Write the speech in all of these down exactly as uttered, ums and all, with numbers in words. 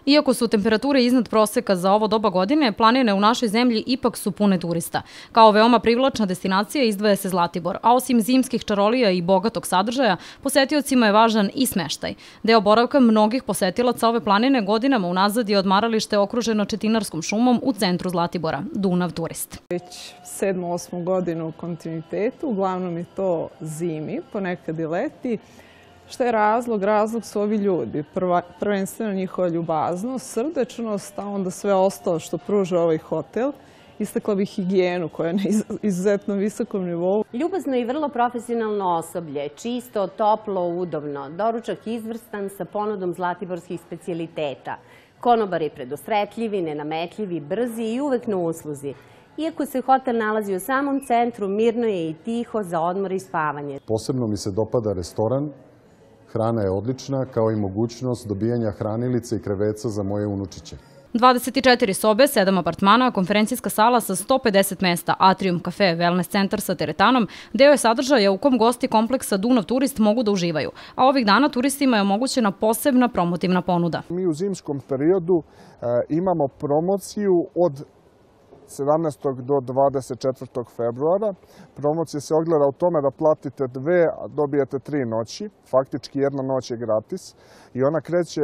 Iako su temperature iznad proseka za ovo doba godine, planine u našoj zemlji ipak su pune turista. Kao veoma privlačna destinacija izdvaja se Zlatibor, a osim zimskih čarolija i bogatog sadržaja, posetiocima je važan i smeštaj. Deo boravka mnogih posetilaca ove planine godinama unazad je odmaralište okruženo četinarskom šumom u centru Zlatibora, Dunav Turist. Već sedmu, osmu godinu u kontinuitetu, uglavnom je to zimi, ponekad i leti. Šta je razlog? Razlog su ovi ljudi. Prva, prvenstveno njihova ljubaznost, srdečnost, a onda sve ostalo što pruža ovaj hotel. Istakla bih higijenu koja je na izuzetno visokom nivou. Ljubazno i vrlo profesionalno osoblje, čisto, toplo, udobno. Doručak izvrstan sa ponudom zlatiborskih specijaliteta. Konobari predosretljivi, nenametljivi, brzi i uvek na usluzi. Iako se hotel nalazi u samom centru, mirno je i tiho za odmor i spavanje. Posebno mi se dopada restoran. Hrana je odlična, kao i mogućnost dobijanja hranilice i kreveca za moje unučiće. dvadeset četiri sobe, sedam apartmana, konferencijska sala sa sto pedeset mesta, atrium, kafe, wellness centar sa teretanom, deo je sadržaja u kom gosti kompleksa Dunav Turist mogu da uživaju, a ovih dana turistima je omogućena posebna promotivna ponuda. Mi u zimskom periodu e, imamo promociju od sedamnaestog do dvadeset četvrtog februara. Promocija se ogleda u tome da platite dve, a dobijete tri noći. Faktički jedna noć je gratis. I ona kreće,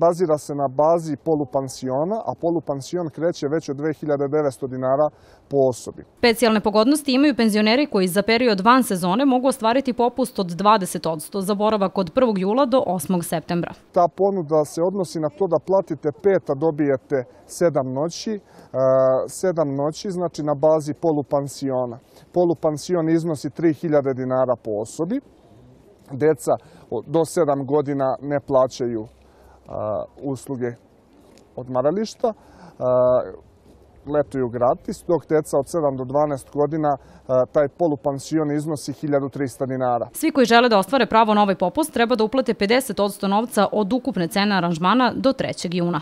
bazira se na bazi polupansiona, a polupansion kreće već od dve hiljade devetsto dinara po osobi. Specijalne pogodnosti imaju penzioneri koji za period van sezone mogu ostvariti popust od dvadeset posto za boravak od prvog jula do osmog septembra. Ta ponuda se odnosi na to da platite pet, a dobijete sedam noći. Sedam noći, znači na bazi polupansiona. Polupansion iznosi tri hiljade dinara po osobi. Deca do sedam godina ne plaćaju usluge odmarališta. Letuju gratis, dok deca od sedam do dvanaest godina taj polupansion iznosi hiljadu trista dinara. Svi koji žele da ostvare pravo na ovaj popust treba da uplate pedeset posto novca od ukupne cene aranžmana do trećeg juna.